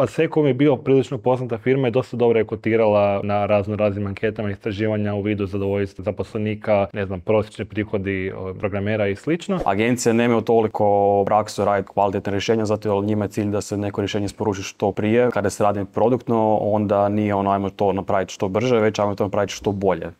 Asseco je bio prilično poznata firma i dosta dobro je kotirala na raznim anketama, istraživanja u vidu zadovoljstva zaposlenika, ne znam, prosječni prihodi programera i slično. Agencije nemaju toliko praksu raditi kvalitetne rješenja, zato jer njima je cilj da se neko rješenje isporuči što prije. Kada se radi produktno, onda nije ono ajmo to napraviti što brže, već ajmo to napraviti što bolje.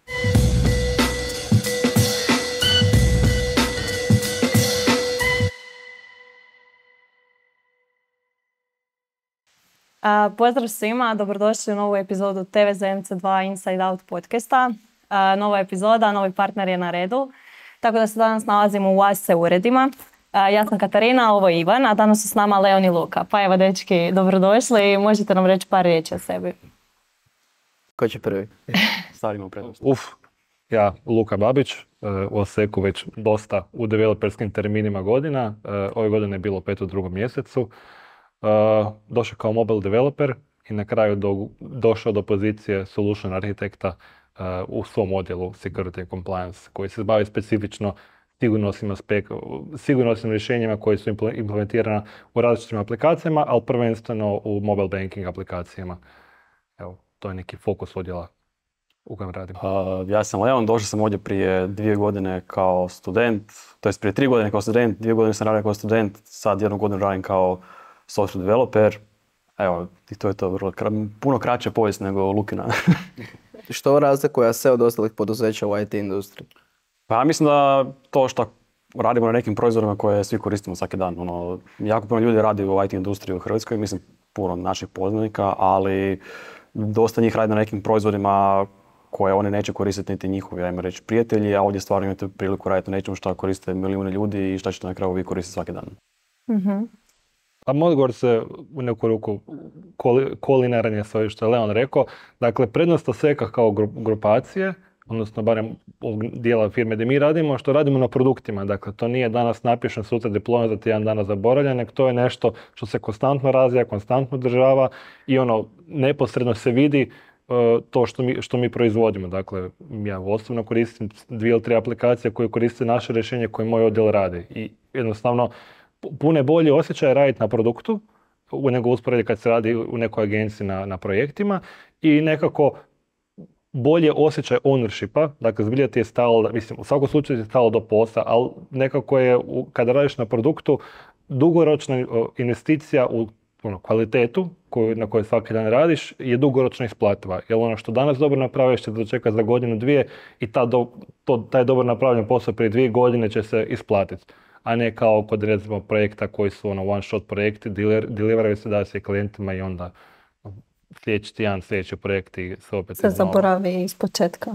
Pozdrav svima, dobrodošli u novu epizodu TVZMC2 Inside Out podcasta. Nova epizoda, novi partner je na redu. Tako da se danas nalazimo u ASE uredima. Ja sam Katarina, ovo je Ivan, a danas su s nama Leon i Luka. Pa evo, dečki, dobrodošli i možete nam reći par riječi o sebi. Ko će prvi? Starimo prednost. Ja, Luka Babić, u Assecu već dosta u developerskim terminima godina. Ove godine je bilo 5 u 2. mjesecu. Došao kao mobile developer i na kraju došao do pozicije solution arhitekta u svom odjelu security and compliance koji se bavi specifično sigurnosnim rješenjima koji su implementirana u različitim aplikacijama, ali prvenstveno u mobile banking aplikacijama. Evo, to je neki fokus odjela u kojem radim. Ja sam Leon, došao sam ovdje prije 2 godine kao student, to jest prije 3 godine kao student, 2 godine sam radio kao student, sad 1 godinu radim kao software developer. Evo, i to je to vrlo puno kraća povijest nego Lukina. Što razlikuje se od ostalih poduzeća u IT industriji? Pa ja mislim da to što radimo na nekim proizvodima koje svi koristimo svaki dan. Jako puno ljudi radi u IT industriji u Hrvatskoj, mislim puno naših poznanika, ali dosta njih radi na nekim proizvodima koje oni neće koristiti niti njihovi, ajmo reći, prijatelji, a ovdje stvarno imate priliku raditi na nečemu što koriste milijune ljudi i što ćete na kraju vi koristiti svaki dan. Mm-hmm. A odgovor se u neku ruku kolinaran je sve što je Leon rekao. Dakle, prednost Asseca kao grupacije, odnosno barem dijela firme gdje mi radimo, što radimo na produktima. Dakle, to nije danas napišen, sutra diplomat, za tjedan dana zaboravljen, nego to je nešto što se konstantno razvija, konstantno održava i neposredno se vidi to što mi proizvodimo. Dakle, ja osobno koristim 2 ili 3 aplikacije koje koriste naše rješenje koje moj odjel radi. I jednostavno, puno je bolji osjećaj raditi na produktu nego usporediti kad se radi u nekoj agenciji na projektima i nekako bolje osjećaj ownershipa, dakle zbilja ti je stalo, mislim u svakom slučaju ti je stalo do posla, ali nekako je kada radiš na produktu dugoročna investicija u kvalitetu na kojoj svaki dan radiš je dugoročno isplativa. Jer ono što danas dobro napraviš će se dočekati za godinu, 2 i taj dobro napravljen posao prije 2 godine će se isplatiti. A ne kao kod recimo projekta koji su one shot projekti, deliveraju se da se klijentima i onda sljedeći tjedan, sljedeći projekti se opet se zaboravi iz početka.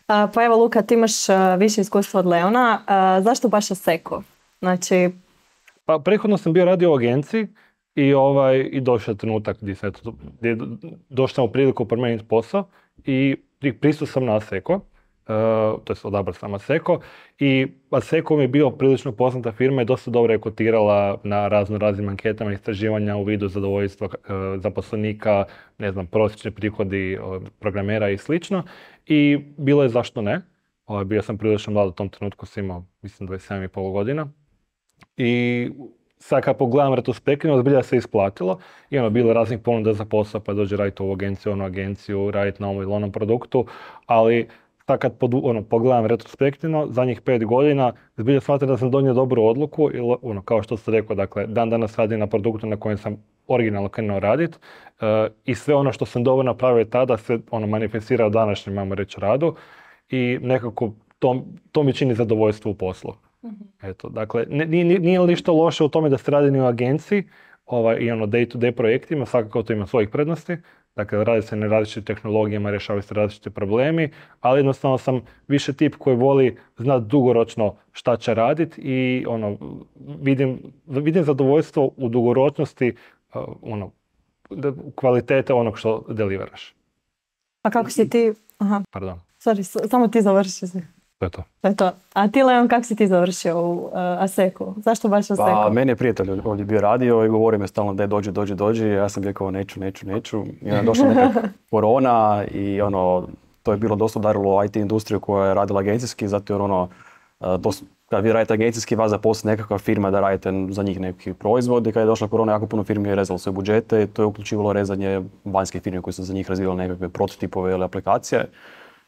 Pa evo Luka, ti imaš više iskustva od Leona. Zašto baš Asseco? Znači... Pa prethodno sam bio radio u agenciji i došao je trenutak gdje došao u priliku promijeniti posao i pristao sam na Asseco. To je odabrao sam Asseco i Asseco mi je bio prilično poznata firma i dosta dobro je kotirala na raznim anketama istraživanja u vidu zadovoljstva zaposlenika, ne znam, prosječni prihodi programera i slično i bilo je zašto ne. Bio sam prilično mlad u tom trenutku, sam imao mislim 27,5 godina i sad kad pogledam retrospektivno, zbilja se isplatilo i bilo raznih ponuda za posao, pa dođe raditi u ovu agenciju, onu agenciju, raditi na ovom ili onom produktu, ali sad kad pogledam retrospektivno, zadnjih 5 godina, zbilja smatram da sam donio dobru odluku, kao što ste rekao, dakle, dan danas radim na produktu na kojem sam originalno krenuo raditi i sve ono što sam dobro napravio tada se manifestira u današnjem, ajmo reći, radu i nekako to mi čini zadovoljstvo u poslu. Mm-hmm. Eto, dakle, nije ništa loše u tome da se radi ni u agenciji i day-to-day projektima, svakako to ima svojih prednosti. Dakle, radi se na različitim tehnologijama, rješavaju se različiti problemi, ali jednostavno sam više tip koji voli znati dugoročno šta će raditi i vidim zadovoljstvo u dugoročnosti kvalitete onog što deliveraš. A kako si ti... Aha. Pardon. Sorry, samo ti završi se. To je to. To je to. A ti, Leon, kako si ti završio u Assecu? Zašto baš Assecu? Pa, meni je prijatelj ovdje bio radio i govorio mi stalno da dođi. Ja sam rekao neću. I onda je došla neka korona i to je bilo dosta udarilo IT industriju koja je radila agencijski, zato jer kad vi radite agencijski, vas zaposli nekakva firma da radite za njih neki proizvod i kad je došla korona, jako puno firmi je rezalo svoje budžete i to je uključivalo rezanje vanjskih firmi koji su za njih razvijali nekakve prototipove ili aplikacije.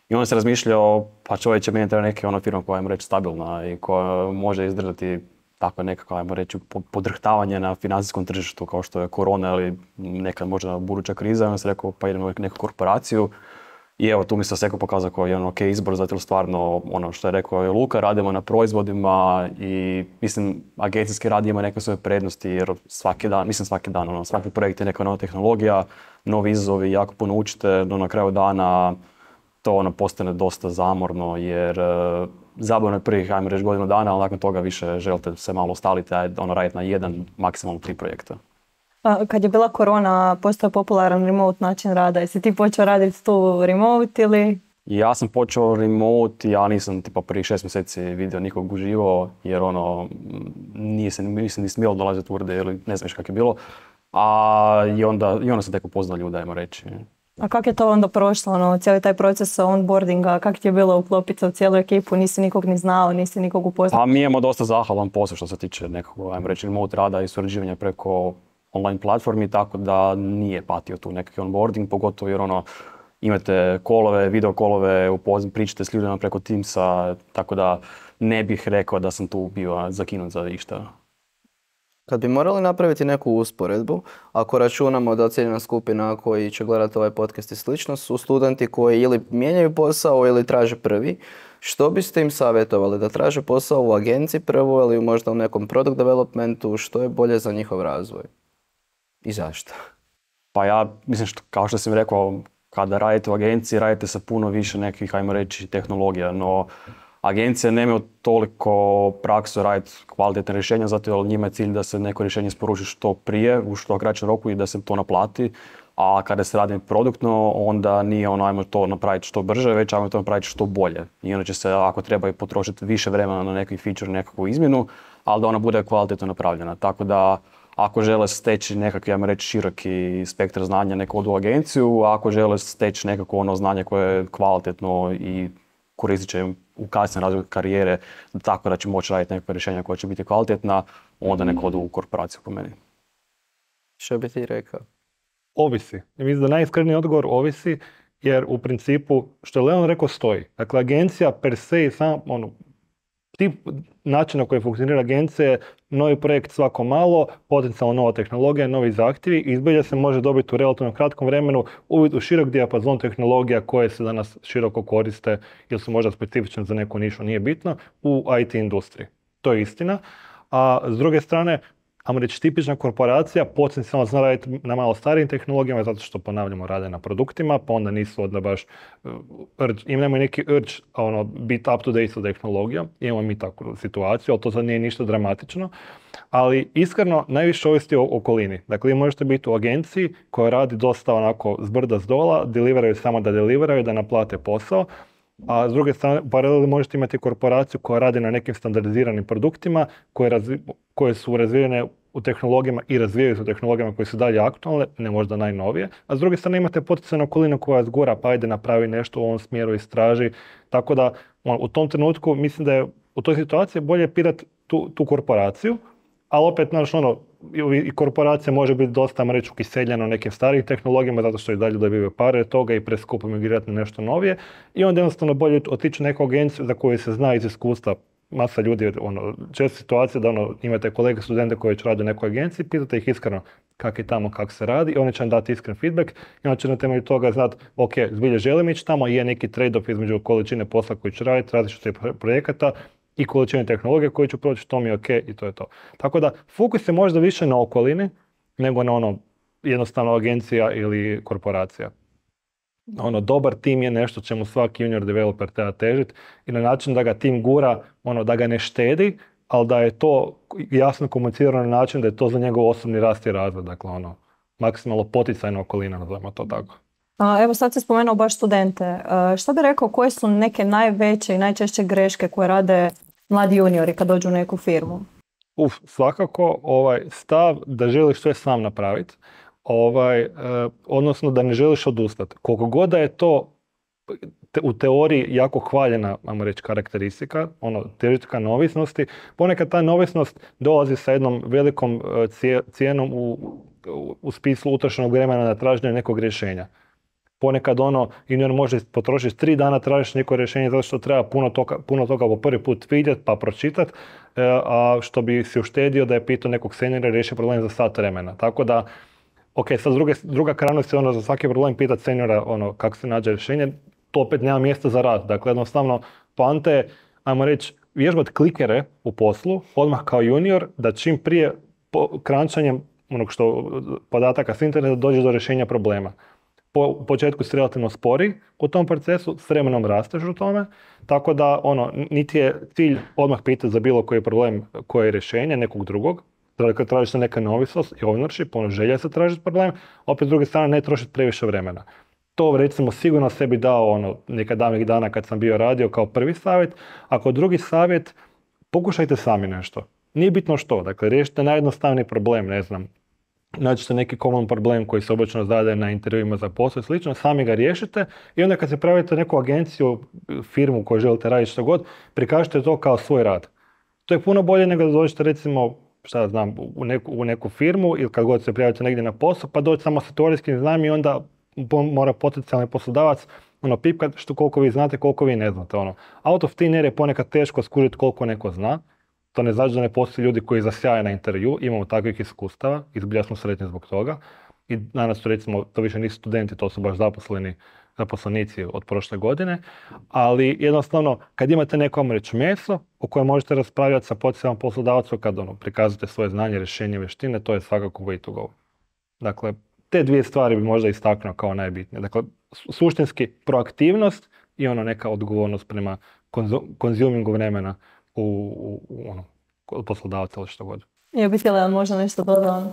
I onda se razmišljao, pa čovječe, meni treba neka firma koja, ajmo reći, stabilna i koja može izdržati tako nekako, ajmo reći, podrhtavanje na financijskom tržištu kao što je korona ili nekad možda buduća kriza. I onda se rekao, pa idemo u neku korporaciju. I evo, tu mi se Seko pokazao kao jedan ok izbor, zato stvarno, ono što je rekao je Luka, radimo na proizvodima i mislim, agencijski rad ima neke svoje prednosti jer svaki dan, svaki projekt je neka nova tehnologija, novi izazovi, jako puno učite, no na kraju dana to postane dosta zamorno jer zabavno je prvih, ajmo reći, godinu dana, ali nakon toga više želite se malo ostaliti, raditi na jedan, maksimalno 3 projekta. Kad je bila korona, postao popularan remote način rada. Jesi ti počeo raditi tu remote ili? Ja sam počeo remote, ja nisam prije 6 mjeseci vidio nikog uživo, jer nisam ni smjelo dolaziti u urde ili ne znam kako je bilo. I onda sam tek upoznao ljude, ajmo reći. A kako je to onda prošlo, cijeli taj proces onboardinga, kako ti je bilo uklopiti u cijelu ekipu, nisi nikog ni znao, nisi nikog upoznao? A mi imamo dosta zahvalan posao što se tiče nekog, ajmo reći, remote rada i surađivanja preko online platformi, tako da nije patio tu nekakvi onboarding, pogotovo jer imate kolove, video kolove, pričate s ljudima preko Teamsa, tako da ne bih rekao da sam tu bio zakinut za išta. Kad bi morali napraviti neku usporedbu, ako računamo da ciljna skupina koji će gledati ovaj podcast i slično su studenti koji ili mijenjaju posao ili traže prvi, što biste im savjetovali? Da traže posao u agenciji prvo ili možda u nekom product developmentu, što je bolje za njihov razvoj? I zašto? Pa ja mislim, kao što sam rekao, kada radite u agenciji, radite sa puno više nekih, ajmo reći, tehnologija, no agencije nemaju toliko praksu raditi kvalitetne rješenja, zato jer njima je cilj da se neko rješenje isporuči što prije, u što kraćem roku i da se to naplati. A kada se radi produktno, onda nije ajmo to napraviti što brže, već ajmo to napraviti što bolje. I onda će se, ako treba, potrošiti više vremena na neki feature, nekakvu izmjenu, ali da ona bude kvalitetno napravljena. Tako da, ako žele steći nekakvi, ajmo reći, široki spektar znanja, neku odu agenciju, a ako žele steći nekako znanje koje je kvalitetno i koristit će im u kasnijem razvoju karijere, tako da će moći raditi nekakve rješenja koja će biti kvalitetna, onda neko odu u korporaciju po meni. Što bi ti rekao? Ovisi. Ja mislim da najiskreniji odgovor ovisi, jer u principu, što je Leon rekao, stoji. Dakle, agencija per se i sam, tip načina na koji funkcionira agencija je novi projekt svako malo, potencijalno nova tehnologija, novi zahtjevi i zbilja se može dobiti u relativno kratkom vremenu uvid u širok dijapazon tehnologija koje se danas široko koriste ili su možda specifične za neku nišu, nije bitno, u IT industriji. To je istina. A s druge strane, ajmo reći, tipična korporacija potencijalno zna raditi na malo starijim tehnologijama zato što, ponavljamo, rade na produktima, pa onda nisu onda baš imamo neki urge biti up to date sa tehnologijom. Imamo mi takvu situaciju, ali to sad nije ništa dramatično. Ali iskreno, najviše ovisi o okolini. Dakle, vi možete biti u agenciji koja radi dosta onako zbrda zdola, deliveraju samo da deliveraju, da naplate posao. A s druge strane, paralelno možete imati korporaciju koja radi na nekim standardiziranim produktima koje su razvijene u tehnologijama i razvijaju se u tehnologijama koje su dalje aktualne, ne možda najnovije. A s druge strane imate potencijalnu okolinu koja zgura, pa ajde napravi nešto u ovom smjeru, istraži. Tako da u tom trenutku mislim da je u toj situaciji bolje pirati tu korporaciju, ali opet, i korporacija može biti dosta, reći, ukiseljena u nekim starijim tehnologijama zato što i dalje dobivaju pare toga i preskupo migrirati na nešto novije. I onda jednostavno bolje otići neku agenciju za koju se zna iz iskustva. Masa ljudi, česta situacija da imate kolege studente koji već rade u nekoj agenciji, pitate ih iskreno kako je tamo, kako se radi i oni će vam dati iskren feedback i onda će na temelju toga znati, ok, zbilje želim ići tamo i je neki trade-off između količine posla koji ću raditi, različitih projekata i količine tehnologije koju ću proći, to mi je ok i to je to. Tako da fokus je možda više na okolini nego na jednostavno agencija ili korporacija. Dobar tim je nešto čemu svaki junior developer treba težiti i na način da ga tim gura, da ga ne štedi, ali da je to jasno komunicirano na način da je to za njegov osobni rast i razvoj. Dakle, maksimalno poticajna okolina, nazovimo to tako. Evo sad si spomenuo baš studente. Što bi rekao, koje su neke najveće i najčešće greške koje rade mladi juniori kad dođu u neku firmu? Svakako stav da želiš sve sam napraviti. Odnosno da ne želiš odustati. Koliko god da je to u teoriji jako hvaljena, ajmo reći, karakteristika, teoretika neovisnosti. Ponekad ta neovisnost dolazi sa jednom velikom cijenom u smislu utrošenog vremena na traženje nekog rješenja. Ponekad junior može potrošiti 3 dana tražiti neko rješenje zato što treba puno toga po prvi put vidjeti pa pročitati, a što bi si uštedio da je pitao nekog seniora i riješio problem za sat vremena. Tako da, ok, sad druga krajnost je za svaki problem pitati seniora kako se nađe rješenje, to opet nema mjesta za rad. Dakle, jednostavno, poanta je, ajmo reći, vježbati klikere u poslu, odmah kao junior, da čim prije krančanjem podataka s interneta dođe do rješenja problema. Po početku si relativno spori u tom procesu, s vremenom rasteš u tome, tako da niti je cilj odmah pitati za bilo koji problem, koje je rješenje nekog drugog. Dakle, traži se neka neovisnost i ownership, želja se tražiti problem, opet s druge strane ne trošiti previše vremena. To recimo sigurno sebi dao nekad davnih dana kad sam bio radio kao prvi savjet. Ako drugi savjet, pokušajte sami nešto. Nije bitno što, dakle riješite najjednostavniji problem, ne znam. Nađete neki common problem koji se obično zadaje na intervjuima za posao i slično, sami ga riješite i onda kad se pravite neku agenciju, firmu koju želite raditi što god, prikažite to kao svoj rad. To je puno bolje nego da dođete recimo u neku firmu ili kad god se prijavite negdje na posao pa doći samo sa teorijskim znanjem i onda mora potencijalni poslodavac pipkat što koliko vi znate, koliko vi ne znate. Out of thin air je ponekad teško skužiti koliko neko zna. To ne znači da ne postoje ljudi koji zasjaje na intervju, imamo takvih iskustava, izbilja smo sretni zbog toga. I danas su recimo, to više nisu studenti, to su baš zaposlenici od prošle godine, ali jednostavno kad imate neko reći meso o kojem možete raspravljati sa potencijalnim poslodavcom kad prikazate svoje znanje, rješenje, vještine, to je svakako way to go. Dakle, te dvije stvari bi možda istaknuo kao najbitnije. Dakle, suštinski proaktivnost i neka odgovornost prema konzumingu vremena od poslodavca ili što god. Ja bih htjela možda nešto dodati.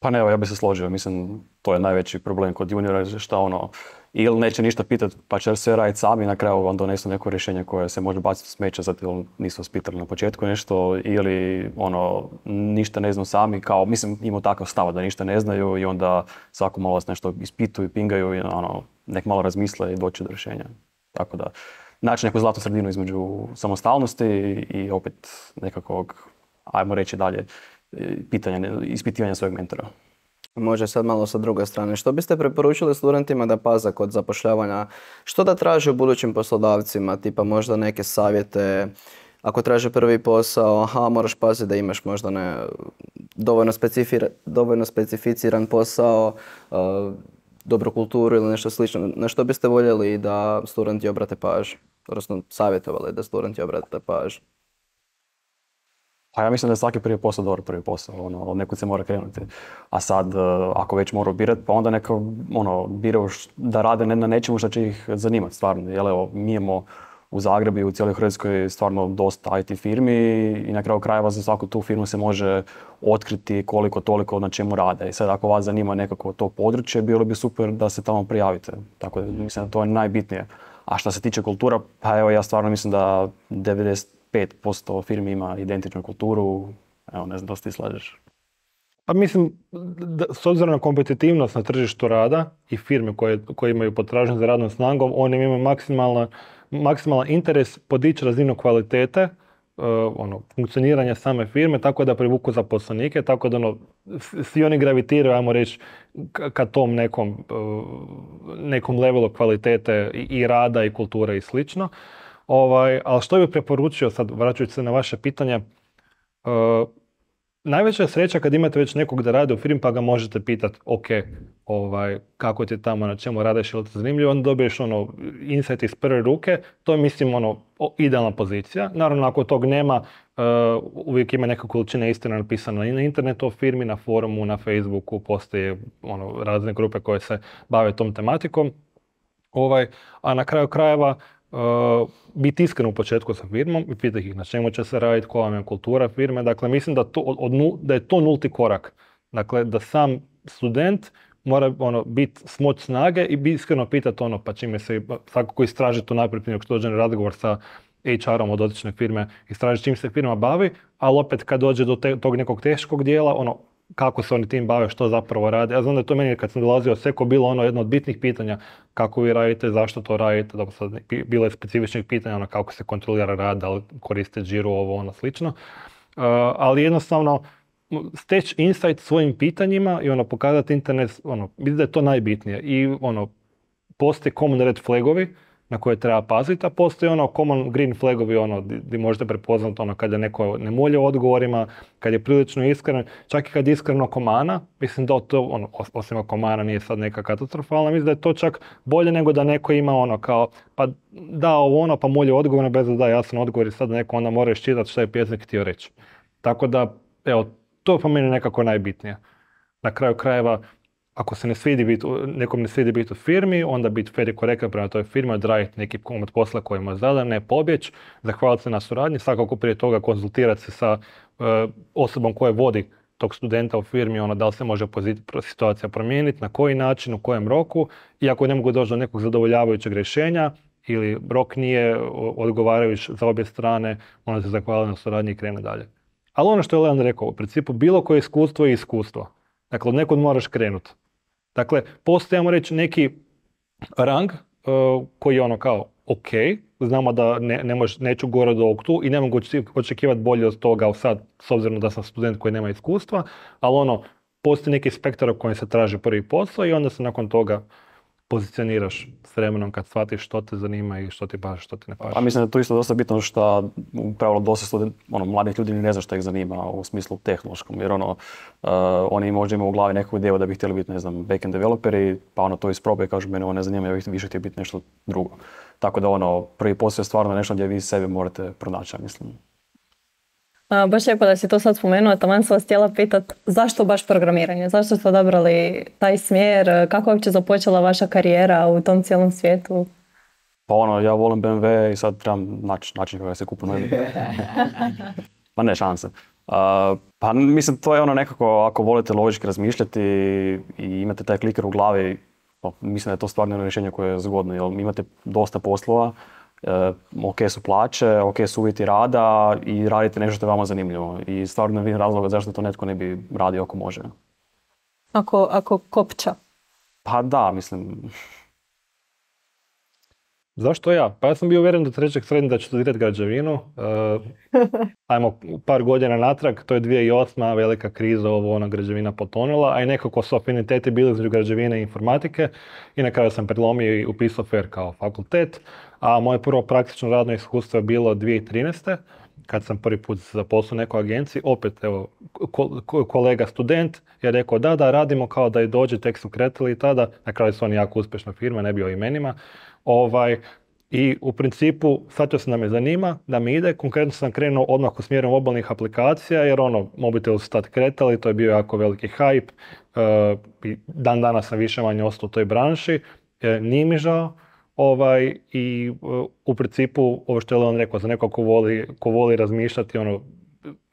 Pa ne, evo, ja bih se složio. Mislim, to je najveći problem kod juniora, šta ili neće ništa pitati, pa će sve raditi sami, na kraju vam donesu neko rješenje koje se može baciti u smeće, zato jer nisu vas pitali na početku nešto, ili ništa ne znaju sami, kao, mislim, imaju takav stav da ništa ne znaju i onda svako malo vas nešto ispituju, pingaju i nek malo razmisle i doći do rješenja. Tako da, naći neku zlatnu sredinu između samostalnosti i opet nekakvog, ajmo reći dalje, ispitivanja svojeg mentora. Može sad malo sa druge strane. Što biste preporučili studentima da paze kod zapošljavanja? Što da traže u budućim poslodavcima? Tipa možda neke savjete, ako traže prvi posao, moraš paziti da imaš možda dovoljno specificiran posao, dobru kulturu ili nešto slično. Na što biste voljeli da studenti obrate pažnju? Odnosno savjetovali da studenti obrate pažnju? Pa ja mislim da je svaki prvi posao dobar prvi posao, od nekud se mora krenuti. A sad, ako već moraju birati, pa onda neka biraju da rade na nečemu što će ih zanimati stvarno. Jer evo, mi imamo u Zagrebu i u cijeloj Hrvatskoj stvarno dosta IT firmi i na kraju krajeva za svaku tu firmu se može otkriti koliko toliko na čemu rade. I sad ako vas zanima nekako to područje, bilo bi super da se tamo prijavite. Tako da mislim da to je najbitnije. A što se tiče kultura, pa evo ja stvarno mislim da 95% firmi ima identičnu kulturu. Evo, ne znam da se ti slažeš. Pa mislim, s obzirom na kompetitivnost na tržištu rada i firme koje imaju potražnju za radnom snagom, oni imaju maksimalan interes podići razinu kvalitete, funkcioniranja same firme, tako da privuku zaposlenike, tako da svi oni gravitiraju, ajmo reći, ka tom nekom levelu kvalitete i rada i kulture i slično. Ali što bih preporučio, sad vraćajući se na vaše pitanje, najveća je sreća kad imate već nekog da radi u firmi pa ga možete pitati, ok, kako ti je tamo, na čemu radiš, ili ti zanimljivo, onda dobiješ insight iz prve ruke, to je mislim idealna pozicija. Naravno, ako tog nema, uvijek ima neka količina istina napisana i na internetu o firmi, na forumu, na Facebooku, postoje razne grupe koje se bave tom tematikom. A na kraju krajeva, biti iskren u početku sa firmom i pitati ih na čemu će se raditi, koja vam je kultura firme. Dakle, mislim da je to nulti korak. Dakle, da sam student mora biti smoć snage i iskreno pitati pa čime se svakako istraži to najprije prije što dođe na razgovor sa HR-om od dotične firme, istraži čim se firma bavi, ali opet kad dođe do tog nekog teškog dijela, kako se oni tim bave, što zapravo rade. Ja znam da je to meni kad sam dolazio Seko bilo ono jedno od bitnih pitanja kako vi radite, zašto to radite, da sad bilo je specifičnih pitanja ono kako se kontrolira rad, da li koriste Jira, ovo ono slično. Ali jednostavno steći insight svojim pitanjima i ono pokazati internet, ono, mislim da je to najbitnije. I ono, postoje common red flagovi na koje treba paziti, a postoji ono common green flagovi ono gdje možete prepoznati ono kad je neko ne mulje u odgovorima, kad je prilično iskren, čak i kad je iskreno komana, mislim da to ono, osim ako komana nije sad neka katastrofalna, mislim da je to čak bolje nego da neko ima ono kao pa da ovo ono pa mulje odgovor bez da da jasan odgovor i sad neko onda mora iščitati što je pjesnik htio reći. Tako da, evo, to je po meni nekako najbitnije. Na kraju krajeva, ako se nekom ne svidi biti u firmi, onda biti fair i korektan prema toj firmi, odraditi neki komad posla koji mu je zadan, ne pobjeć, zahvaliti se na suradnji, svakako prije toga konzultirati se sa osobom koja vodi tog studenta u firmi, ono da li se može situacija promijeniti, na koji način, u kojem roku, i ako ne mogu doći do nekog zadovoljavajućeg rješenja ili rok nije odgovarajući za obje strane, onda se zahvali na suradnji i krene dalje. Ali ono što je Leon rekao, u principu bilo koje iskustvo je iskustvo. Dakle, od nekud moraš krenuti. Dakle, postoji, ajmo reći, neki rang koji je ono kao ok, znamo da neću gore do ovog tu i ne mogu očekivati bolje od toga sad, s obzirom da sam student koji nema iskustva, ali ono, postoji neki spektar u kojem se traži prvi posao i onda se nakon toga pozicioniraš s vremenom kad shvatiš što te zanima i što ti paše, što ti ne paše. A mislim da je to isto dosta bitno što u pravilu dosta mladih ljudi ne zna što ih zanima u smislu tehnološkom, jer oni možda imaju u glavi neku ideju da bi htjeli biti, ne znam, backend developeri, pa ono to isprobaju i kažu mene ovo ne zanima, ja bih više htio biti nešto drugo. Tako da prvi posao je stvarno nešto gdje vi sebe morate pronaći, mislim. Baš lijepo da si to sad spomenuo, taman sam vas htjela pitati zašto baš programiranje, zašto ste odabrali taj smjer, kako je uopće započela vaša karijera u tom cijelom svijetu? Pa ja volim BMW i sad trebam način kako se kupu novi. Pa ne, šanse. Pa mislim, to je nekako, ako volite logički razmišljati i imate taj kliker u glavi, mislim da je to stvarno rješenje koje je zgodno, jer imate dosta poslova, ok su plaće, ok su uvjeti rada i radite nešto što je vama zanimljivo. I stvarno ne vidim razloga zašto to netko ne bi radio ako može. Ako kopča? Pa da, mislim. Zašto ja? Pa ja sam bio uvjeren do trećeg srednje da ću studirati građevinu. Ajmo par godina natrag, to je 2008. velika kriza, građevina potonula, a i nekako su afiniteti bili između građevine i informatike i na kraju sam predlomio i upisao FER kao fakultet, a moje prvo praktično radno iskustvo je bilo 2013. kad sam prvi put zaposlio u nekoj agenciji, opet evo, kolega student je rekao da radimo kao da i dođe, tek su kretili i tada, na kraju su oni jako uspješna firma, ne bi o imenima. I u principu, shvatio sam da me zanima, da mi ide, konkretno sam krenuo odmah u smjeru mobilnih aplikacija, jer mobitel su tad kretali, to je bio jako veliki hype, i dan danas sam više manje ostao u toj branši, nije mi žao, i u principu, ovo što je Leon rekao, za neko ko voli razmišljati,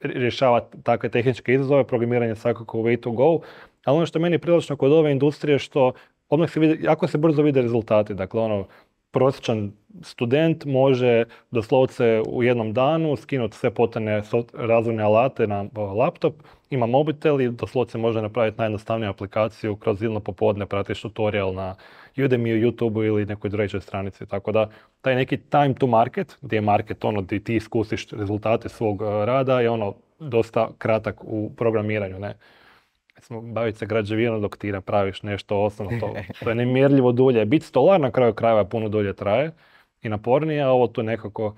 rješavati takve tehničke izazove, programiranje svakako way to go, ali ono što je meni prilično kod ove industrije, što odmah se vidi, jako se brzo vide rezultati, dakle prosječan student može doslovce u jednom danu skinuti sve potrebne razvojne alate na laptop, ima mobitel i doslovce može napraviti najjednostavniju aplikaciju kroz jedno popodne, pratiš tutorial na Udemy, YouTubeu ili nekoj trećoj stranici. Tako da taj neki time to market, gdje je market gdje ti iskusiš rezultate svog rada, je dosta kratak u programiranju, ne? Baviti se građevinom dok ti napraviš nešto osnovno, to je nemjerljivo dulje. Biti stolar na kraju krajeva puno dulje traje i napornije, a ovo tu nekako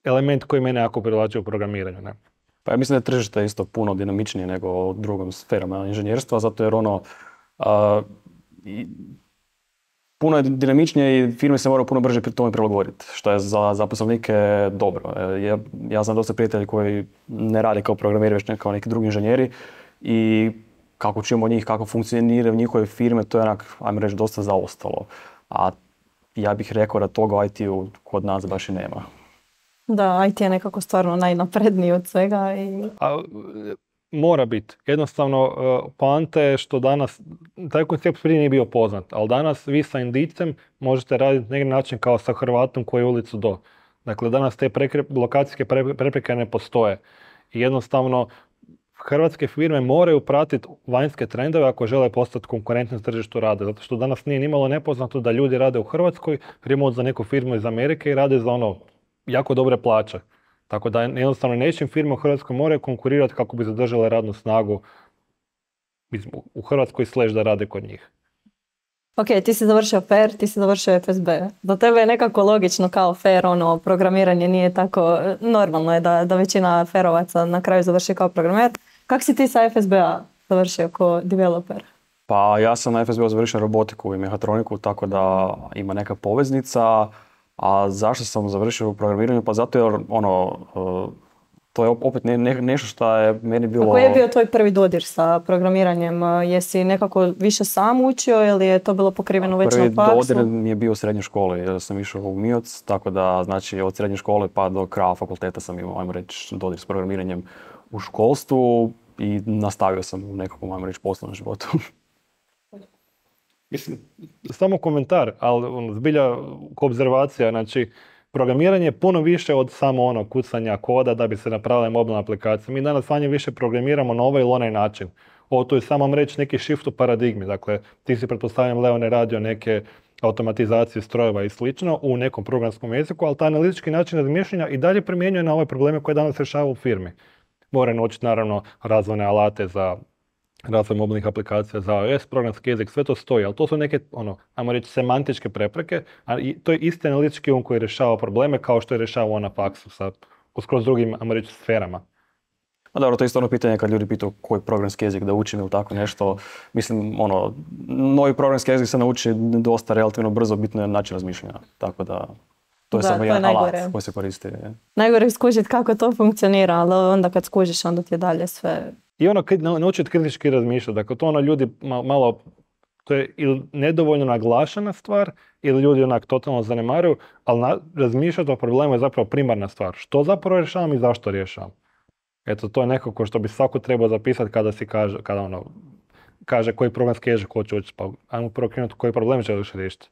element koji mene jako privlači u programiranju. Ne? Pa ja mislim da je tržište isto puno dinamičnije nego u drugom sferama inženjerstva, zato jer puno je dinamičnije i firme se moraju puno brže pri tome prilagoditi, što je za zaposlenike dobro. Ja znam dosta prijatelji koji ne radi kao programeri, već kao neki drugi inženjeri, i kako čujemo od njih, kako funkcioniraju njihove firme, to je ajmo reći, dosta zaostalo. A ja bih rekao da toga u IT-u kod nas baš i nema. Da, IT je nekako stvarno najnapredniji od svega. Mora biti. Jednostavno, poanta je što danas, taj koncept prije nije bio poznat, ali danas vi sa indicem možete raditi na neki način kao sa Hrvatom koji je ulicu do. Dakle, danas te lokacijske prepreke ne postoje. I jednostavno, hrvatske firme moraju pratiti vanjske trendove ako žele postati konkurentni na tržištu rada. Zato što danas nije nimalo nepoznato da ljudi rade u Hrvatskoj, remote za neku firmu iz Amerike i rade za jako dobre plaće. Tako da jednostavno nečim firme u Hrvatskoj moraju konkurirati kako bi zadržale radnu snagu u Hrvatskoj / da rade kod njih. Ok, ti si završio FAIR, ti si završio FSB. Za tebe je nekako logično kao FAIR, programiranje nije tako, normalno je da većina FAIR-ovaca na kraju završi kao programer. Kako si ti sa FSB-a završio kao developer? Pa ja sam na FSB-u završio robotiku i mehatroniku, tako da ima neka poveznica. A zašto sam završio u programiranju? Pa zato jer to je opet nešto što je meni bilo... A koji je bio tvoj prvi dodir sa programiranjem? Jesi nekako više sam učio ili je to bilo pokriveno već na faksu? Prvi dodir mi je bio u srednjoj školi, jer sam išao u MIOC, tako da znači od srednje škole pa do kraja fakulteta sam imao, ajmo reći, dodir s programiranjem u školstvu i nastavio sam u nekakvom, ajmo reći, poslovnom životu. Mislim, samo komentar, ali zbilja obzervacija, znači programiranje je puno više od samo kucanja koda da bi se napravile mobilne aplikacije. Mi danas manje više programiramo na ovaj ili onaj način. Ovo tu je samo reći neki shift u paradigmi. Dakle, ti si pretpostavljam Leone radio neke automatizacije strojeva i slično u nekom programskom jeziku, ali taj analitički način razmišljanja i dalje primjenjuje na ove probleme koje danas rješava u firmi. Mora naučiti naravno razvojne alate za razvoj mobilnih aplikacija za iOS, programski jezik, sve to stoji, ali to su neke, ajmo reći, semantičke prepreke, a to je isti analitički koji rješava probleme kao što je rješavao na faksu sa skroz drugim, ajmo reći, sferama. A dobro, to je isto pitanje kad ljudi pitaju koji programski jezik da učim ili tako nešto. Mislim, novi programski jezik se nauči dosta relativno brzo, bitno je način razmišljanja, tako da to je samo jedan alat koji se koristi. Najgore je skužiti kako to funkcionira, ali onda kad skužiš, onda ti je dalje sve... I naučiti kritički razmišljati. Dakle, to ljudi malo, to je ili nedovoljno naglašena stvar, ili ljudi totalno zanemaruju, ali razmišljati o problemu je zapravo primarna stvar. Što zapravo rješavam i zašto rješavam? Eto, to je nekako što bi svako trebao zapisati kada kaže koji programski jezik hoće učiti. Pa ajmo prvo krenuti koji problem želiš riješiti.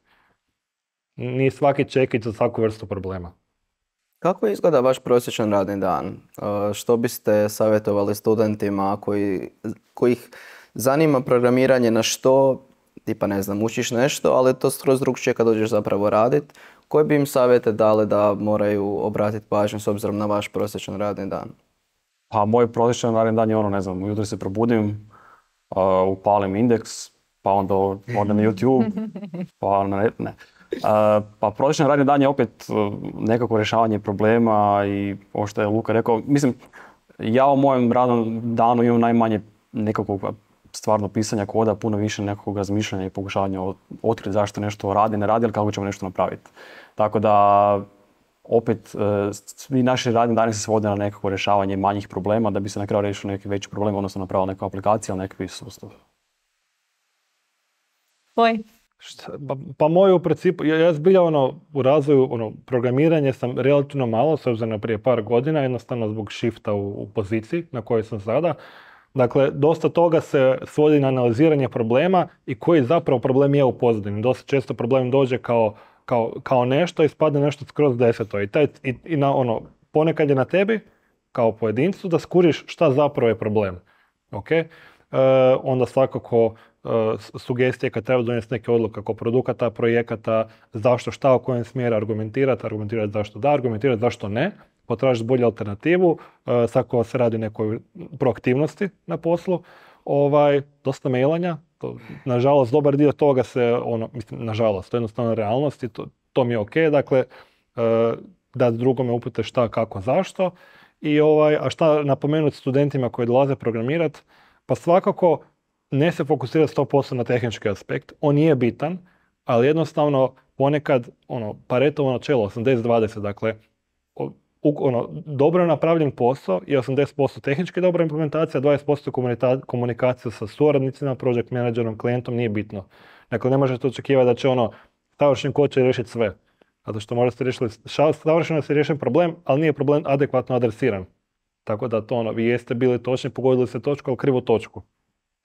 Nije svaki čekić za svaku vrstu problema. Kako izgleda vaš prosječan radni dan? Što biste savjetovali studentima kojih zanima programiranje na što, tipa ne znam, učiš nešto, ali to skroz drugčije kad dođeš zapravo raditi. Koje bi im savjete dali da moraju obratiti pažnju s obzirom na vaš prosječan radni dan? Pa moj prosječan radni dan je ujutro se probudim, upalim indeks, pa onda odem na YouTube, pa ne. Pa prosječan radni dan je opet nekako rješavanje problema i ovo što je Luka rekao. Mislim, ja u mojem radnom danu imam najmanje nekakvog stvarno pisanja koda, puno više nekakvog razmišljanja i pokušavanja otkriti zašto nešto radi, ne radi, ali kako ćemo nešto napraviti. Tako da, opet, svi naši radni dani se svode na nekako rješavanje manjih problema da bi se na kraju riješio neki veći problem, odnosno napravila neku aplikaciju ili neki sustav. Pa moj u principu, ja zbilja u razvoju programiranja sam relativno malo, s obzirom na prije par godina, jednostavno zbog shifta u poziciji na kojoj sam sada. Dakle, dosta toga se svodi na analiziranje problema i koji zapravo problem je u pozadini. Dosta često problem dođe kao nešto i spadne nešto skroz deseto. Ponekad je na tebi, kao pojedincu, da skuriš šta zapravo je problem. Okay? Onda svakako sugestije kad treba donijeti neke odluke oko produkata, projekata, zašto, šta, u kojem smjeru argumentirati zašto da, argumentirati zašto ne, potražiti bolju alternativu, svako se radi o nekoj proaktivnosti na poslu, dosta mailanja, nažalost dobar dio toga se, nažalost, to je jednostavno realnost i to mi je ok, dakle, da drugome upute šta, kako, zašto, a šta napomenuti studentima koji dolaze programirati, pa svakako ne se fokusirati 100% na tehnički aspekt. On je bitan, ali jednostavno ponekad Paretovo načelo 80-20, dakle dobro napravljen posao i 80% tehnički dobra implementacija, 20% komunikacija sa suradnicima, project managerom, klijentom nije bitno. Dakle, ne možete očekivati da će savršen kod će riješiti sve. Zato što možda ste riješili savršeno se riješen problem, ali nije problem adekvatno adresiran. Tako da vi jeste bili točni, pogodili ste točku, ali krivu točku.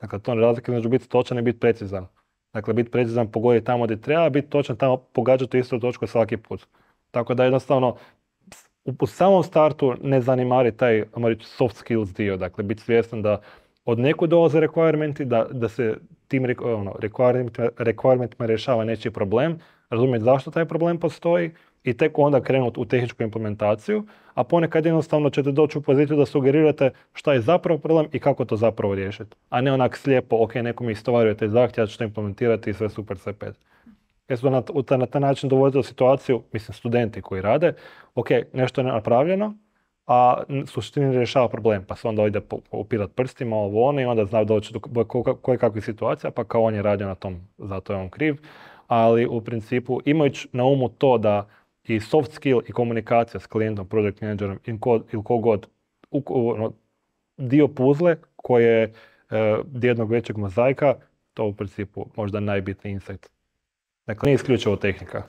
Dakle, to je razlika između biti točan i biti precizan. Dakle, biti precizan pogoditi tamo gdje treba, biti točan tamo pogađati istu točku svaki put. Tako da jednostavno u samom startu ne zanemari taj, ajmo reći, soft skills dio, dakle biti svjestan da od nekud dolaze requirementi, da se tim requirementima rješava nečiji problem, razumjeti zašto taj problem postoji i tek onda krenuti u tehničku implementaciju, a ponekad jednostavno ćete doći u poziciju da sugerirate šta je zapravo problem i kako to zapravo riješiti. A ne onak slijepo, ok, neko mi istovaruje taj zahtjev, ja ću to implementirati i sve super, sve pet. Jer su na taj način dovoditi u situaciju, mislim, studenti koji rade, ok, nešto je napravljeno, a suštini ne rješava problem, pa se onda ide upirat prstima, ovo ono, i onda zna doći do koje kakvih situacija, pa kao on je radio na tom, zato je on kriv. Ali u principu, imajući na umu to da i soft skill i komunikacija s klijentom, project managerom ili kogod, dio puzle koje je jednog većeg mozaika, to u principu možda najbitniji insight. Dakle, nije isključivo tehnika.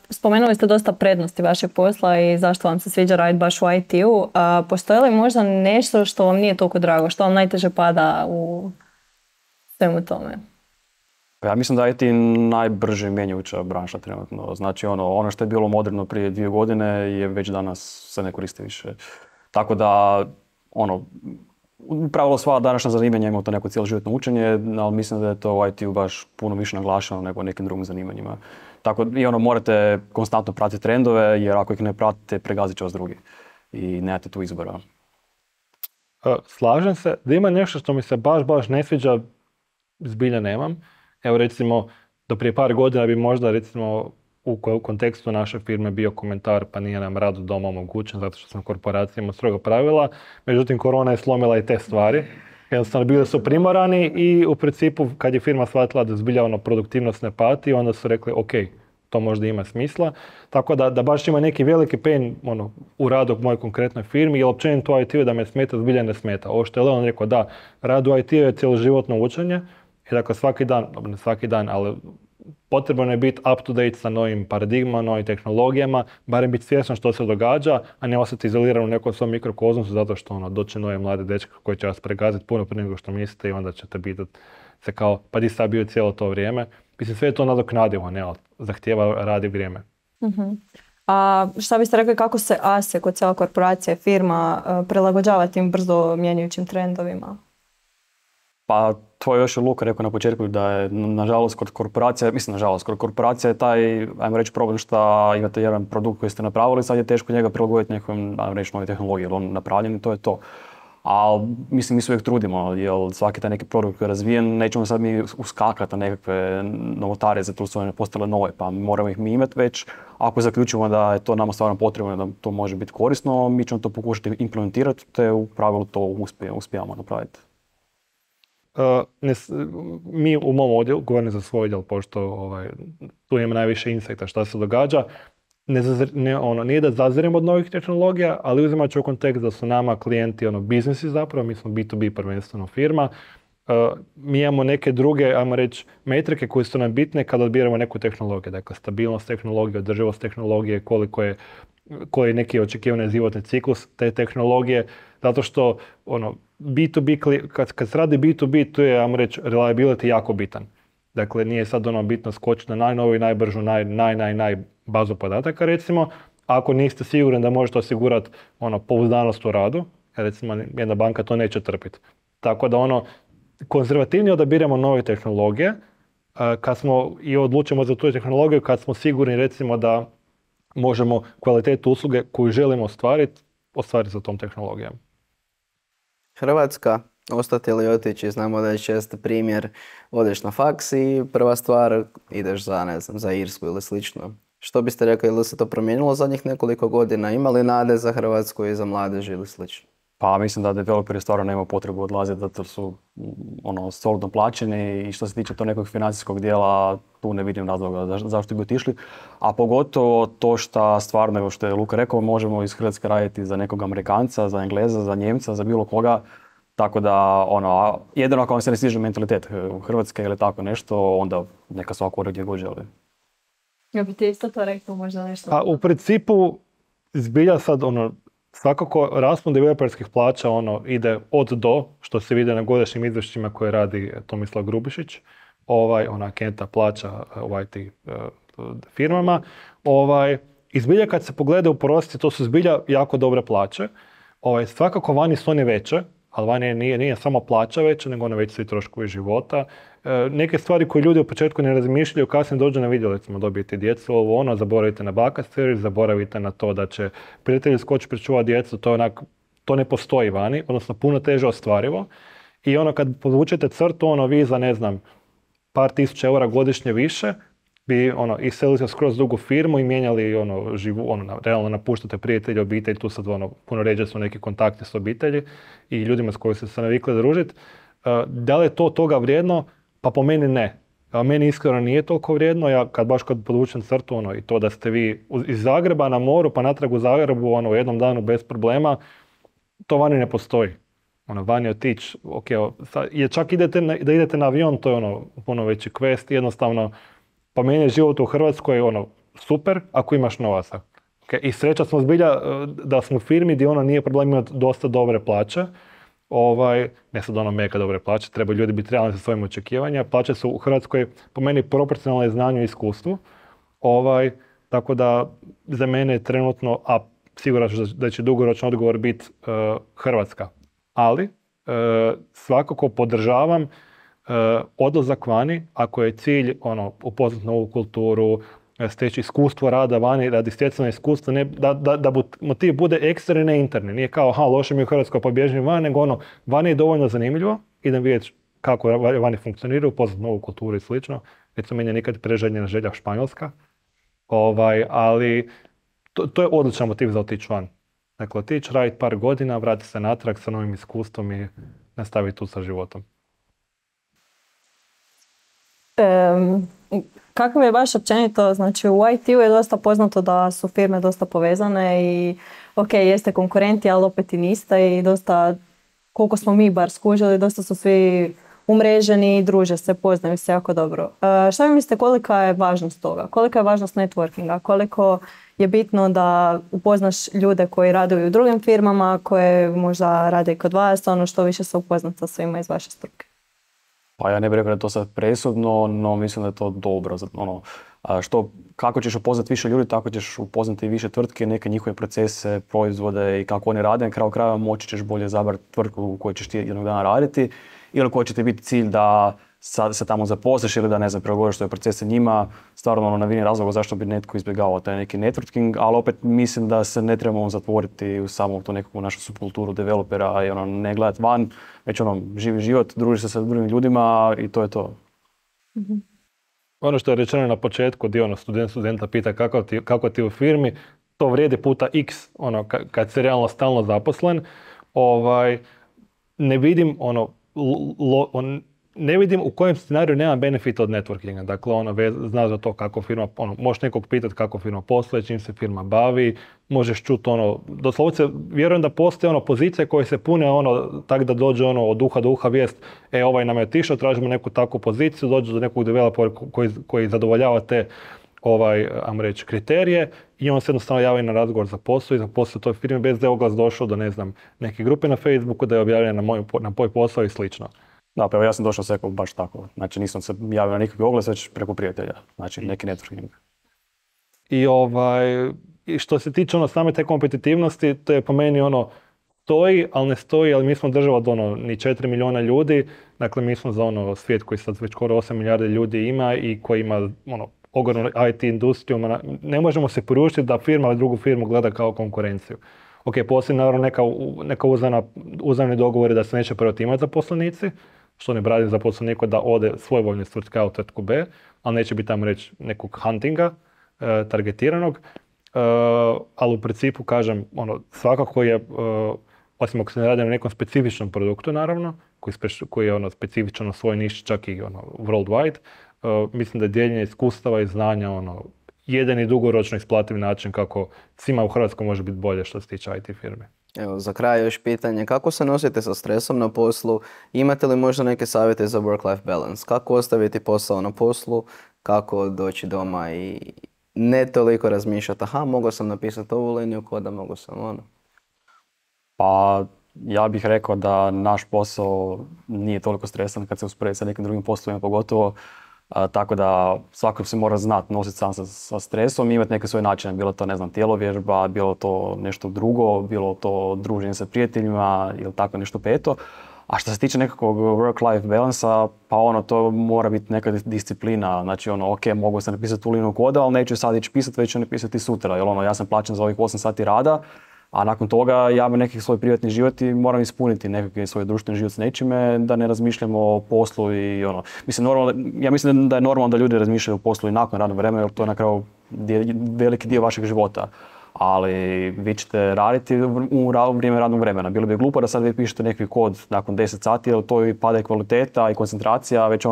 Spomenuli ste dosta prednosti vašeg posla i zašto vam se sviđa raditi baš u IT-u. Postoji li možda nešto što vam nije toliko drago, što vam najteže pada u svemu tome? Ja mislim da je IT najbrže mijenjajuća branša trenutno. Znači ono što je bilo moderno prije 2 godine je već danas se ne koristi više. Tako da upravo sva današnja zanimanja imaju to neko cjeloživotno učenje, ali mislim da je to u IT-u baš puno više naglašeno nego nekim drugim zanimanjima. Tako i morate konstantno pratiti trendove, jer ako ih ne pratite, pregazit će vas drugi. I nemate tu izbora. Slažem se. Da ima nešto što mi se baš ne sviđa, zbilja nemam. Evo recimo, do prije par godina bi možda recimo u kontekstu naše firme bio komentar pa nije nam rad od doma omogućen zato što smo korporacijama strogo pravila. Međutim, korona je slomila i te stvari. Jednostavno bili su primorani i u principu kad je firma shvatila da zbilja produktivnost ne pati, onda su rekli ok, to možda ima smisla. Tako da baš ima neki veliki pain u radu u mojoj konkretnoj firmi, jer općenito u IT-u da me smeta, zbilja ne smeta. Ovo što je Leon rekao, da, rad u IT-u je cjeloživotno učenje i dakle ne svaki dan, ali potrebno je biti up to date sa novim paradigmama, novim tehnologijama, barem biti svjesno što se događa, a ne ostati izoliran u nekom svom mikrokozmosu zato što doće nove mlade dečke koji će vas pregaziti puno prije nego što mislite i onda ćete biti se kao, pa di sad bio cijelo to vrijeme. Mislim, sve je to nadoknadivo, ne, zahtijeva rad i vrijeme. Uh-huh. A šta biste rekli kako se ASE kod cijela korporacija, firma prilagođava tim brzo mijenjajućim trendovima? Pa to je još Luka rekao na početku da je nažalost kod korporacija je taj, ajmo reći, problem što imate jedan produkt koji ste napravili, sad je teško njega prilagoditi nekom, ajmo reći, nove tehnologije, jer on napravljen i to je to. A mislim, mi se uvijek trudimo, jer svaki taj neki produkt koji je razvijen, nećemo sad mi uskakati na nekakve novotare, zato su one postale nove, pa moramo ih mi imati već. Ako zaključimo da je to nama stvarno potrebno, da to može biti korisno, mi ćemo to pokušati implementirati, te u pravilu to uspijamo napraviti. Mi u mom odjelu, govorim za svoj odjel, pošto tu imamo najviše insekta šta se događa, nije da zaziremo od novih tehnologija, ali uzimajući u kontekst da su nama klijenti biznisi zapravo, mi smo B2B prvenstveno firma, mi imamo neke druge, ajmo reći, metrike koje su nam bitne kada odbiramo neku tehnologiju. Dakle, stabilnost tehnologije, održivost tehnologije, koji je neki očekivani životni ciklus te tehnologije, zato što B2B, kad se radi B2B, tu je, ajmo reći, reliability jako bitan. Dakle, nije sad bitno skočiti na najnoviju, najbržu, naj bazu podataka, recimo. Ako niste sigurni da možete osigurati pouzdanost u radu, recimo jedna banka to neće trpiti. Tako da konzervativnije odabiramo nove tehnologije, kad smo i odlučimo za tu tehnologiju, kad smo sigurni, recimo, da možemo kvalitetu usluge koju želimo ostvariti sa tom tehnologijom. Hrvatska, ostati ili otići, znamo da je često primjer, odeš na faks i prva stvar ideš za Irsku ili slično. Što biste rekli, ili se to promijenilo zadnjih nekoliko godina? Ima li nade za Hrvatsku i za mladež ili slično? Pa mislim da developeri stvarno nema potrebu odlaziti zato su solidno plaćeni i što se tiče to nekog financijskog dijela, tu ne vidim razloga zašto bi otišli. A pogotovo to što stvarno, evo što je Luka rekao, možemo iz Hrvatske raditi za nekog Amerikanca, za Engleza, za Njemca, za bilo koga. Tako da, jedino ako vam se ne sviđa mentalitet Hrvatske ili tako nešto, onda neka svako gdje god želi. Ja bi ti isto to rekao možda nešto? A u principu, zbilja sad, svakako raspon developerskih plaća ide od do, što se vidi na godišnjim izvješćima koje radi Tomislav Grubišić, Kenta plaća u IT firmama. I zbilja kad se pogleda u prosjeci, to su zbilja jako dobre plaće. Svakako vani su one veće, ali vani nije samo plaća veća, nego one veće svi troškovi života. Neke stvari koje ljudi u početku ne razmišljaju, kasnije dođu na video, recimo dobijete djecu, zaboravite na baka servis, zaboravite na to da će prijatelji skoči pričuvati djecu, to ne postoji vani, odnosno puno teže ostvarivo. I kad podvučete crtu, vi za, ne znam, par tisuća eura godišnje više, bi iselili se skroz drugu firmu i mijenjali realno napuštate prijatelji, obitelj, tu sad puno ređe su neki kontakti s obitelji i ljudima s kojima ste se navikli družiti. Da li je to toga vrijedno? Pa po meni ne. Meni iskreno nije toliko vrijedno, ja kad podvučem crtu i to da ste vi iz Zagreba na moru pa natrag u Zagrebu u jednom danu bez problema, to vani ne postoji. Vani otići, čak da idete na avion, to je puno veći quest, jednostavno pa meni je život u Hrvatskoj super ako imaš novaca. I sreća smo zbilja da smo u firmi gdje nije problem imati dosta dobre plaće. Ne sad mega dobre plaće, treba ljudi biti realni sa svojim očekivanja. Plaće su u Hrvatskoj po meni proporcionalne znanju i iskustvu. Tako da za mene je trenutno, a siguran da će dugoročno odgovor biti Hrvatska. Ali svakako podržavam odlazak vani ako je cilj upoznati novu kulturu, steći iskustvo rada vani radi stjecanja iskustva, da motiv bude eksterni, ne interni. Nije kao, loše mi u Hrvatskoj pa bježim van, nego vani je dovoljno zanimljivo, idem vidjeti kako vani funkcionira, upoznati novu kulturu i slično. Recimo, meni je nikad preželjena želja Španjolska, ali to je odličan motiv za otići van. Dakle, otići, raditi par godina, vratiti se natrag sa novim iskustvom i nastaviti tu sa životom. Kako je baš općenito, znači u IT-u je dosta poznato da su firme dosta povezane i jeste konkurenti, ali opet i niste i dosta, koliko smo mi bar skužili, dosta su svi umreženi i druže se, poznaju se jako dobro. Šta vi mislite, kolika je važnost toga? Kolika je važnost networkinga? Koliko je bitno da upoznaš ljude koji rade u drugim firmama, koje možda rade i kod vas, što više se upoznat sa svima iz vaše struke? Pa ja ne bih rekao da je to sad presudno, no mislim da je to dobro. Kako ćeš upoznati više ljudi, tako ćeš upoznati više tvrtke, neke njihove procese, proizvode i kako oni rade. Na kraju krajeva moći ćeš bolje izabrati tvrtku u kojoj ćeš ti jednog dana raditi ili koji će ti biti cilj da se tamo zaposliš ili da, ne znam, pregovoriš svoje procese njima. Stvarno ne vidim razloga zašto bi netko izbjegavao taj neki networking, ali opet mislim da se ne trebamo zatvoriti u samom tu nekakvu našu subkulturu developera i ne gledati van, već živi život, družiš se sa drugim ljudima i to je to. Mm-hmm. Ono što je rečeno na početku, gdje studenta pita kako ti u firmi, to vrijedi puta x, kad si realno stalno zaposlen, ne vidim ne vidim u kojem scenariju nema benefita od networkinga. Dakle, zna za to kako firma, možeš nekog pitati kako firma posluje, čim se firma bavi, možeš čuti doslovce, vjerujem da postoje pozicije koje se pune tako da dođe od uha do uha vijest, ovaj nam je otišao, tražimo neku takvu poziciju, dođe do nekog developera koji zadovoljava te ajmo reći, kriterije i on se jednostavno javi na razgovor za posao i za posao toj firmi bez da je oglas došao do, ne znam, neke grupe na Facebooku, da je objavljen na moj posao i slično. Da, pa evo ja sam došao sve baš tako. Znači nisam se javio na nikakvi oglas, već preko prijatelja. Znači neki networking. I što se tiče same te kompetitivnosti, to je po meni stoji, ali ne stoji, ali mi smo država od ni 4 milijuna ljudi. Dakle, mi smo za svijet koji sad već skoro 8 milijardi ljudi ima i koji ima ogromnu IT industriju. Ne možemo se poručiti da firma drugu firmu gleda kao konkurenciju. Postoji naravno neka uzajamni dogovori da se neće preotimati zaposlenici, što ne brani zaposleniku da ode svojvoljno iz tvrtke A u tvrtku B, ali neće biti tamo reći nekog huntinga, targetiranog. Ali u principu, kažem, svakako je, osim ako se ne radi na nekom specifičnom produktu, naravno, koji je specifičan na svoj niši, čak i worldwide, mislim da je dijeljenje iskustava i znanja jedan i dugoročno isplativ način kako svima u Hrvatskoj može biti bolje što se tiče IT firme. Evo, za kraj još pitanje, kako se nosite sa stresom na poslu? Imate li možda neke savjete za work-life balance? Kako ostaviti posao na poslu? Kako doći doma i ne toliko razmišljati, mogao sam napisati ovu liniju koda, mogao sam Pa ja bih rekao da naš posao nije toliko stresan kad se usporedi sa nekim drugim poslovima, pogotovo Tako da svako se mora znati nositi sam sa stresom i imati neke svoje načine. Bilo to, ne znam, tjelovježba, bilo to nešto drugo, bilo to druženje sa prijateljima ili tako nešto peto. A što se tiče nekakvog work-life balansa, pa to mora biti neka disciplina. Znači ok, mogu sam napisati tu liniju koda, ali neću sad ići pisati, već ću napisati sutra. Jer ja sam plaćen za ovih 8 sati rada, a nakon toga ja imam neki svoj privatni život i moram ispuniti nekakvi svoj društveni život s nečime, da ne razmišljamo o poslu i ja mislim da je normalno da ljudi razmišljaju o poslu i nakon radnog vremena, jer to je na kraju veliki dio vašeg života. Ali vi ćete raditi u vrijeme radnog vremena. Bilo bi glupo da sad vi pišete neki kod nakon 10 sati, jer to i pada i kvaliteta i koncentracija, već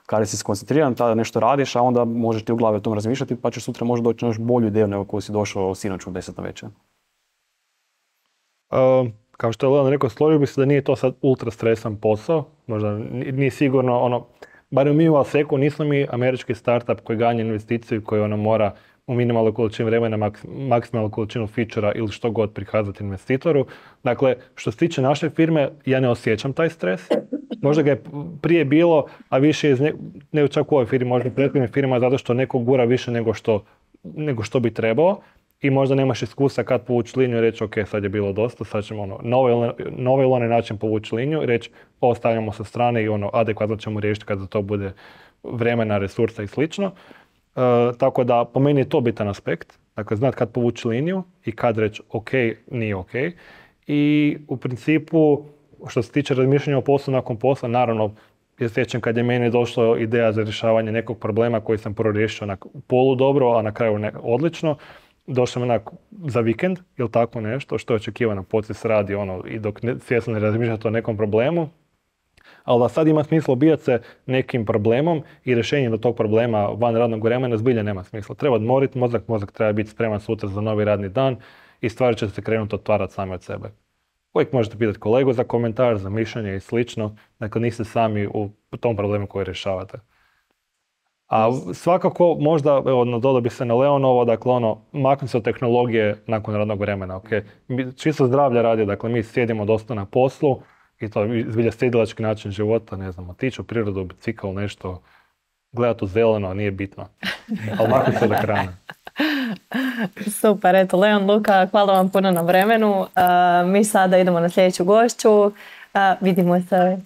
kada si skoncentriran, tada nešto radiš, a onda možeš ti u glavi o tom razmišljati, pa ćeš sutra možda doći na još bolju ideju nego koju si došao sinoć u 10 navečer. Kao što je Leon rekao, složio bi se da nije to sad ultra stresan posao, možda nije sigurno barem mi u Alseku nismo mi američki startup koji ganja investiciju koji mora u minimalnoj količini vremena, maksimalnu količinu featura ili što god prikazati investitoru. Dakle, što se tiče naše firme, ja ne osjećam taj stres. Možda ga je prije bilo, a više iz ne čak u ovoj firmi, možda u prethodnim firma, zato što neko gura više nego što bi trebao. I možda nemaš iskustva kad povući liniju i reći ok, sad je bilo dosta, sad ćemo na ovaj ili onaj način povući liniju i reći ostavljamo sa strane i adekvatno ćemo riješiti kad za to bude vremena, resursa i slično. Tako da po meni je to bitan aspekt. Dakle, znati kad povući liniju i kad reći ok, nije ok. I u principu, što se tiče razmišljanja o poslu nakon posla, naravno, ja sjećam kad je meni došla ideja za rješavanje nekog problema koji sam prvo riješio polu dobro, a na kraju odlično. Došao sam za vikend ili tako nešto, što je očekivano, poslije radi i dok svjesno ne razmišljate o nekom problemu. Ali da sad ima smisla obijati se nekim problemom i rješenjem do tog problema van radnog vremena zbilja nema smisla. Treba odmoriti mozak treba biti spreman sutra za novi radni dan i stvari će se krenuti otvarati same od sebe. Uvijek možete pitati kolegu za komentar, za mišljenje i slično, dakle niste sami u tom problemu koji rješavate. A svakako, možda, dodao bi se na Leonovo, dakle maknu se od tehnologije nakon radnog vremena, ok? Čisto zdravlja radi, dakle mi sjedimo dosta na poslu i to je zbilja sjedilački način života, ne znam, otići u prirodu, bicikl, nešto, gledati u zeleno, nije bitno. Ali maknu se od ekrana. Super, eto, Leon, Luka, hvala vam puno na vremenu. Mi sada idemo na sljedeću gošću. Vidimo se